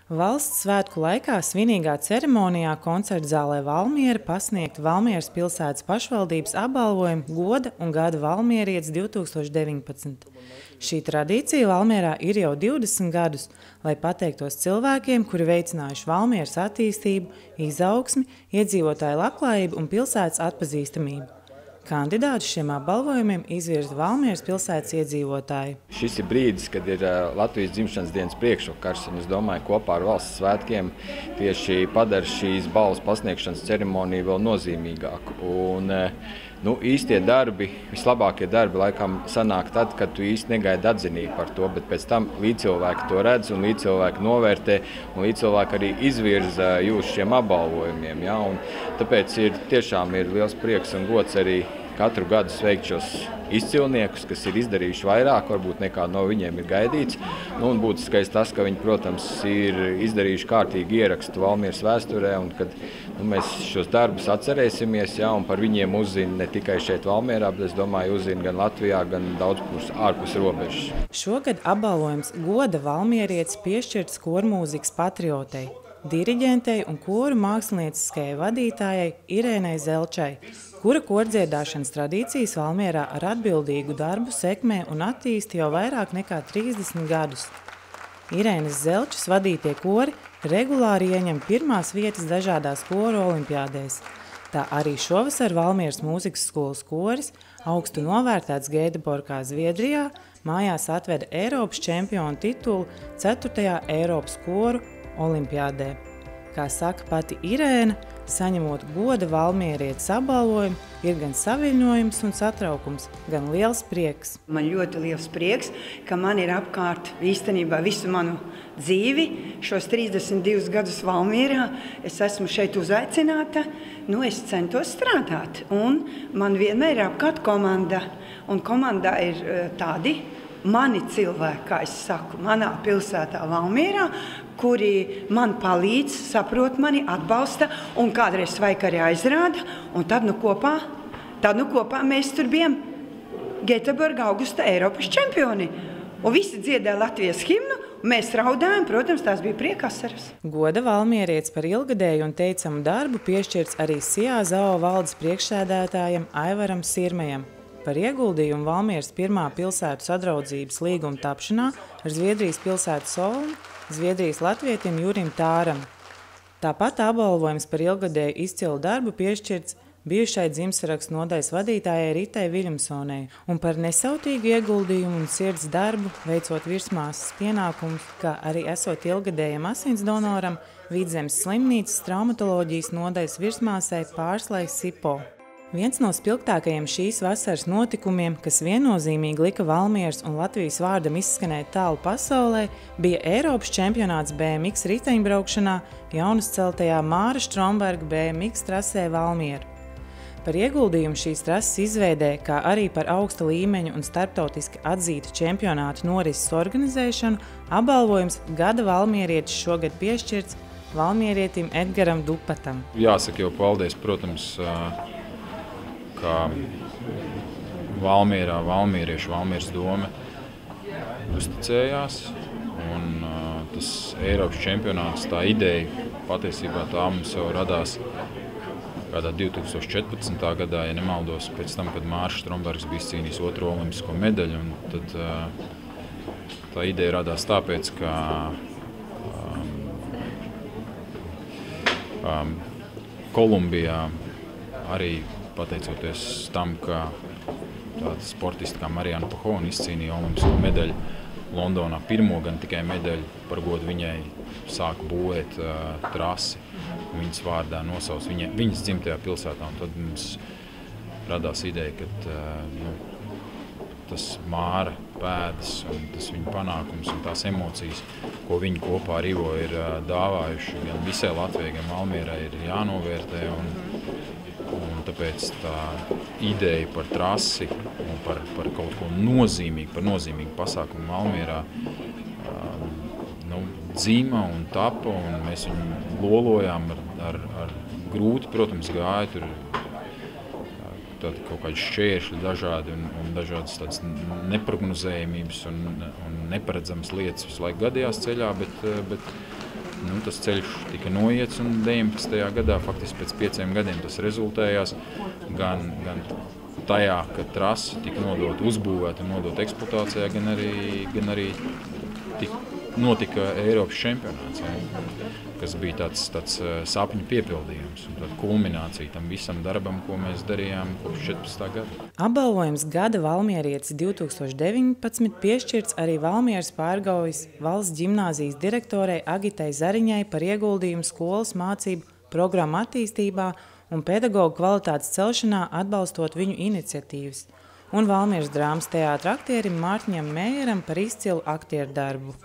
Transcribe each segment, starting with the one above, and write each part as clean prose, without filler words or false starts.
Valsts svētku laikā svinīgā ceremonijā koncertzālē Valmiera pasniegt Valmieras pilsētas pašvaldības apbalvojumu Goda un gada valmierietis 2019. Šī tradīcija Valmierā ir jau 20 gadus, lai pateiktos cilvēkiem, kuri veicinājuši Valmieras attīstību, izaugsmi, iedzīvotāju labklājību un pilsētas atpazīstamību. Kandidātus šiem apbalvojumiem izvirza Valmieras pilsētas iedzīvotāji. Šis ir brīdis, kad ir Latvijas dzimšanas dienas priekšvakars, un es domāju, kopā ar valsts svētkiem tieši padara šīs balvas pasniegšanas ceremoniju vēl nozīmīgāku. Īstie darbi, vislabākie darbi laikam sanāk tad, kad tu īsti negaidi atzinību par to, bet pēc tam līdzcilvēki to redz un līdzcilvēki novērtē un līdzcilvēki arī izvirza jūs šiem apbalvojumiem. Ja? Un tāpēc tiešām ir liels prieks un gods arī katru gadu sveikt šos izcilniekus, kas ir izdarījuši vairāk, varbūt nekā no viņiem ir gaidīts. Un būtiskais tas, ka viņi, protams, ir izdarījuši kārtīgi ierakstu Valmieras vēsturē, un kad mēs šos darbus atcerēsimies, ja, un par viņiem uzzina ne tikai šeit Valmierā, bet es domāju, uzzina gan Latvijā, gan daudz ārpus robežas. Šogad apbalvojums Goda valmierietis piešķirts kormūzikas patriotei, diriģentei un koru mākslinieckajai vadītājai Irēnai Zelčai, kura kordziedāšanas tradīcijas Valmierā ar atbildīgu darbu sekmē un attīsta jau vairāk nekā 30 gadus. Irēnas Zelčas vadītie kori regulāri ieņem pirmās vietas dažādās koru olimpiādēs. Tā arī šovasar Valmieras mūzikas skolas koris, augstu novērtēts Gēteborgā, Zviedrijā, mājās atveda Eiropas čempionu titulu 4. Eiropas koru olimpiādē. Kā saka pati Irēna, saņemot Goda valmierietis apbalvojumu, ir gan saviļņojums un satraukums, gan liels prieks. Man ļoti liels prieks, ka man ir apkārt īstenībā visu manu dzīvi, šos 32 gadus Valmierā. Es esmu šeit uzaicināta, es centos strādāt, un man vienmēr ir apkārt komanda, un komandā ir tādi mani cilvēki, kā es saku, manā pilsētā Valmierā, kuri man palīdz, saprot mani, atbalsta un kādreiz svaik arī aizrāda. Un tad kopā mēs tur bijām Gēteborgā augusta Eiropas čempioni. Un visi dziedāja Latvijas himnu, mēs raudājām, protams, tās bija priekasaras. Goda valmierietis par ilgadēju un teicamu darbu piešķirts arī SIAZAO valdes priekšsēdētājam Aivaram Sirmejam par ieguldījumu Valmieras pirmā pilsētu sadraudzības līguma tapšanā ar Zviedrijas pilsētu Solnu, Zviedrijas latvietim Jurim Tāram. Tāpat apbalvojums par ilgadēju izcilu darbu piešķirts bijušai dzimtsarakstu nodaļas vadītājai Ritai Viļamsonei un par nesautīgu ieguldījumu un sirds darbu, veicot virsmāsas pienākumus, kā arī esot ilgadējam asins donoram Vidzemes slimnīcas traumatoloģijas nodaļas virsmāsai Pārslai Sipo. Viens no spilgtākajiem šīs vasaras notikumiem, kas viennozīmīgi lika Valmieras un Latvijas vārdam izskanēt tālu pasaulē, bija Eiropas čempionāts BMX riteņbraukšanā jaunuzceltajā Māra Stromberga BMX trasē Valmiera. Par ieguldījumu šīs trases izveidē, kā arī par augsta līmeņa un starptautiski atzīta čempionāta norises organizēšanu, apbalvojums Gada valmierietis šogad piešķirts valmierietim Edgaram Dupatam. Jāsaka jau paldies, protams, kā Valmierā valmieriešu Valmieras dome uzticējās, un tas Eiropas čempionāts, tā ideja, patiesībā tā mums jau radās kādā 2014. gadā, ja nemaldos, pēc tam, kad Mārs Strombergs bija izcīnījis 2. olimpisko medaļu, un tad tā ideja radās tāpēc, ka Kolumbijā arī pateicoties tam, ka tāda sportista kā Mariana Pahona izcīnīja olimpisko medaļu Londonā, pirmo gan tikai medaļu, par godu viņai sāka būvēt trasi, viņas vārdā nosauc viņas dzimtajā pilsētā. Un tad mums radās ideja, ka tas Māra pēdas un tas viņa panākums un tās emocijas, ko viņi kopā ar Ivo ir dāvājuši gan visai Latvijai, gan Valmierai, ir jānovērtē. Un tāpēc tā ideja par trasi un par kaut ko nozīmīgu, par nozīmīgu pasākumu Valmierā dzīma un tapa, un mēs viņu lolojām ar grūti, protams, gāja tur kaut kādi šķēršļi dažādi un dažādas tādas neprognozējumības un neparedzamas lietas visu laiku gadījās ceļā, bet Tas ceļš tika noiets un 19. gadā, faktiski pēc 5 gadiem tas rezultējās gan tajā, ka trasa tika uzbūvēta un nodota eksploatācijā, gan arī notika Eiropas čempionāts, kas bija tāds sapņu piepildījums un tāda kulminācija tam visam darbam, ko mēs darījām kopš 14. gada. Apbalvojums Gada valmierietis 2019 piešķirts arī Valmieras Pārgaujas valsts ģimnāzijas direktorei Agitai Zariņai par ieguldījumu skolas mācību programmu attīstībā un pedagoģu kvalitātes celšanā, atbalstot viņu iniciatīvas, un Valmieras drāmas teātra aktierim Mārtiņam Mējeram par izcilu aktieru darbu.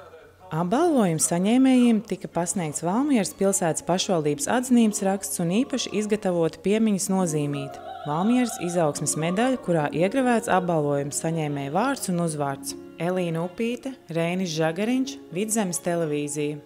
Apbalvojumu saņēmējiem tika pasniegts Valmieras pilsētas pašvaldības atzinības raksts un īpaši izgatavota piemiņas nozīmīta – Valmieras izaugsmes medaļa, kurā iegravēts apbalvojumu saņēmēja vārds un uzvārds. Elīna Upīte, Reinis Žagariņš, Vidzemes televīzija.